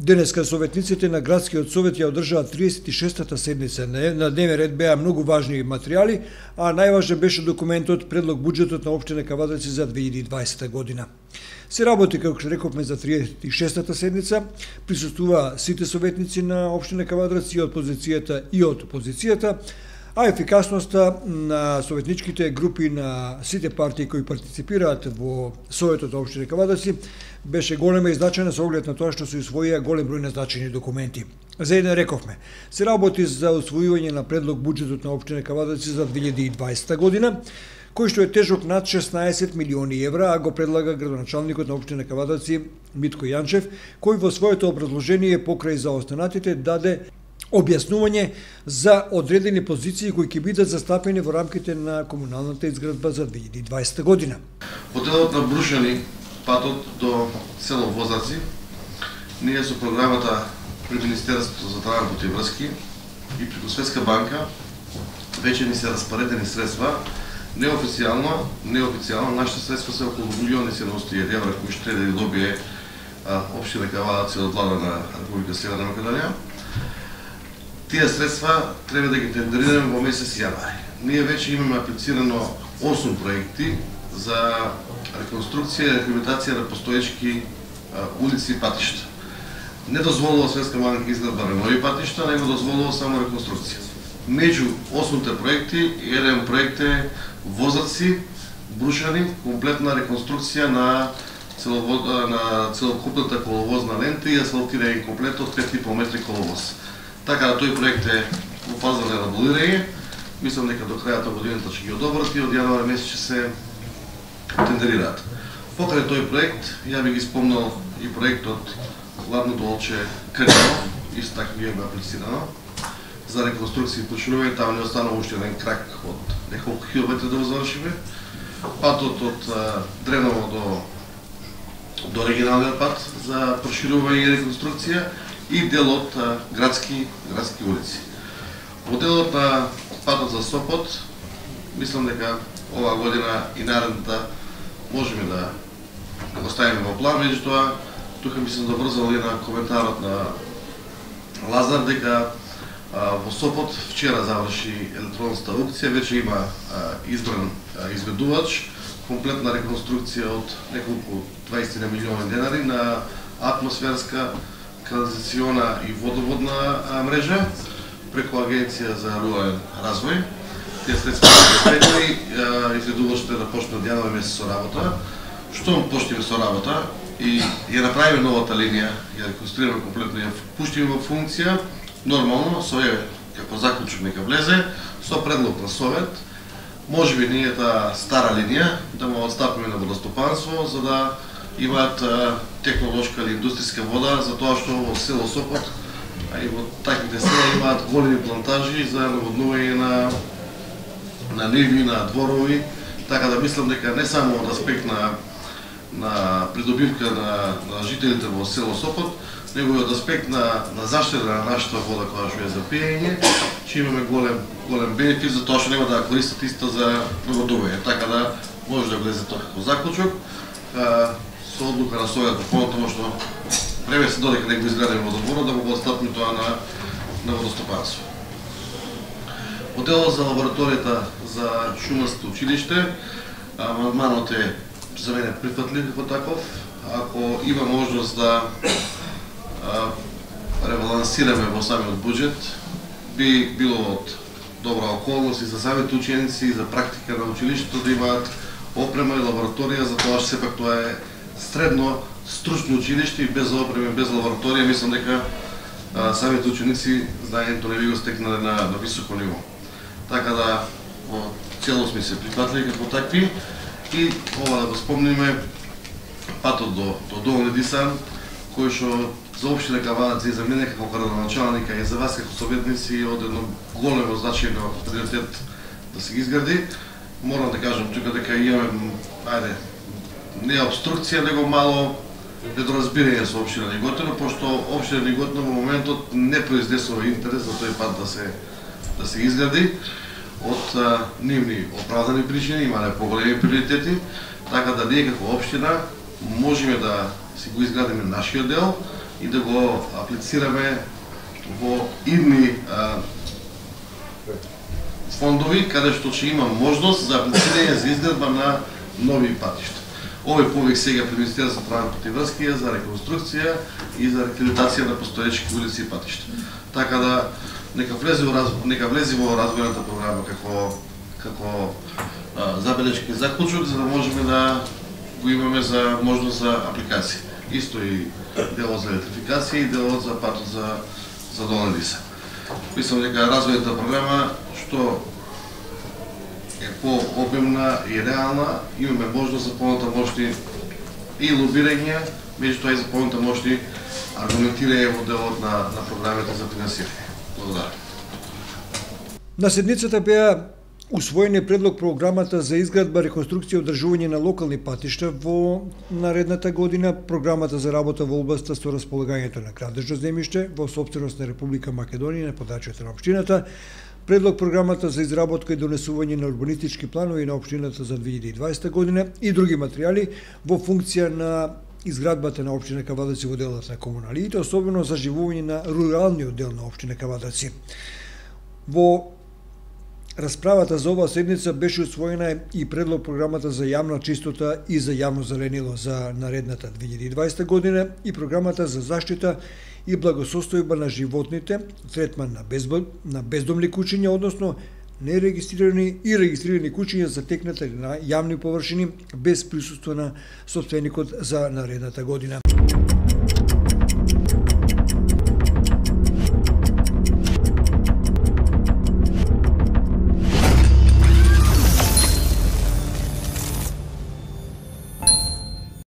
Денеска советниците на Градскиот совет ја одржаа 36-та седница. На дневен ред беа многу важни материјали, а најважен беше документот предлог буџетот на општина Кавадарци за 2020 година. Се работи, како што рековме, за 36-та седница. Присуствува сите советници на општина Кавадарци и од позицијата и од опозицијата, а ефикасноста на советничките групи на сите партии кои партиципираат во Советот на општина Кавадарци беше голема и значајна со оглед на тоа што се усвоија голем број на значајни документи. За еден рековме, се работи за усвојување на предлог буџетот на општина Кавадарци за 2020 година, кој што е тежок над 16 милиони евра, а го предлага градоначалникот на општина Кавадарци Митко Јанчев, кој во своето образложение покрај за останатите даде објаснување за одредени позиции кои ќе бидат застапени во рамките на комуналната изградба за 2020 година. По делот на брушени патот до село Возаци, ние со програмата при Министерството за транспорт и врски и преку Светска банка веќе ни се распоредени средства. Неофицијално нашите средства се околу 1.700.000 евра кои што треба да добие општина Кавадарци од влада на Република Северна Македонија. Тие средства треба да ги тендерираме во месец јануари. Ние веќе имаме аплицирано 8 проекти за реконструкција и рехабилитација на постоечки улици и патишта. Не дозволува Светска банка изградба на нови патишта, него дозволува само реконструкција. Меѓу 8 проекти, еден проект е Возаци, брушани, комплетна реконструкција на целокупната коловозна лента и асфалтирање комплет од 5,5 метри коловоз. Така да тој проект е во фаза на елаборирање. Мислам дека до крајот на годината ќе ги одобрат и од јануари месец ќе се тендерираат. Покрај тој проект, ја би ги спомнал и проектот Ладно Долче Крнево, исто така ги има аплицирано за реконструкција и починување. Таму не останува уште еден крак од неколку километри да го завршиме. Патот од Дреново до регионалниот пат за проширување и реконструкција и дел од градски улици. По делот на патот за Сопот, мислам дека оваа година и наредната можеме да го ставиме во план. Меѓутоа, тука би се добрзал и на коментарот на Лазар дека во Сопот вчера заврши електронска аукција, веќе има избран изведувач, комплетна реконструкција од неколку 20 милиони денари на атмосферска, канализациона и водоводна мрежа преку Агенција за рурален развој. Тие средства се предвидени, изведувачите да почнат од јануари месец со работа. Штом почнеме со работа и ја направиме новата линија, ја реконструираме комплетно, ја пуштиме во функција, нормално, со како заклучок нека влезе, со предлог на совет, можеби ние таа стара линија да му отстапиме на водостопанство, за да имаат технолошка или индустријска вода, за тоа што во село Сопот, а и во таквите села имаат големи плантажи за наводнување на ниви, на дворови, така да мислам дека не само од аспект на придобивка на жителите во село Сопот, него и од аспект на заштита на нашата вода која што е за пиење, ќе имаме голем бенефит за тоа што нема да користат иста за наводнување, така да може да влезе тоа како заклучок. Со одлука на Совет понатаму што време се додека да го изградиме водопровод, да го отстапиме тоа на водостопанство. По делот за лабораторијата за шумарско училиште, амандманот е за мене прифатлив како таков. Ако има можност да ребалансираме во самиот буџет, би било од добра околност и за самите ученици и за практика на училиштето да имаат опрема и лабораторија, за тоа што сепак тоа е средно стручно училиште и без опрема, без лабораторија, мислам дека самите ученици знаењето не би го стекнале на високо ниво. Така да во целост ми се прифатливи како такви и ова да го спомниме патот до Долни Дисан, кој што за општина Кавадарци и за мене како градоначалника и за вас како советници од едно големо значајно приоритет да се ги изгради. Морам да кажам тука дека имаме, не обструкција, него мало недоразбирање со општина Неготино, пошто општина Неготино во моментот не произнесува интерес за тој пат да се изгради од нивни оправдани причини, имале поголеми приоритети, така да ние како општина можеме да си го изградиме нашиот дел и да го аплицираме во идни фондови, каде што ќе има можност за аплицирање за изградба на нови патишта. Овој повик сега при Министерството за транспорт и врски е за реконструкција и за рехабилитација на постоечки улици и патишта. Така да нека влезе во развојната програма како забелешки заклучок, за да можеме да го имаме за можност за апликација. Исто и делот за електрификација и делот за патот за Долна Диса. Мислам дека развојната програма што е по-обемна и реална, имаме можност за понатамошни и лобирање, меѓутоа и за понатамошни аргументирање во делот на програмите за финансирање. Благодарам. На седницата беа усвоени предлог програмата за изградба, реконструкција и одржување на локални патишта во наредната година, програмата за работа во областа со располагањето на градежно земјиште во сопственост на Република Македонија на подачјата на општината, предлог програмата за изработка и донесување на урбанистички планови на општината за 2020 година и други материјали во функција на изградбата на општина Кавадарци во делот на комуналиите, особено за живување на руралниот дел на општина Кавадарци. Во расправата за оваа седница беше усвоена и предлог програмата за јавна чистота и за јавно зеленило за наредната 2020 година и програмата за заштита и благосостојба на животните, третман на бездомни куќиња, односно нерегистрирани и регистрирани куќиња затекнати на јавни површини без присуство на сопственикот за наредната година.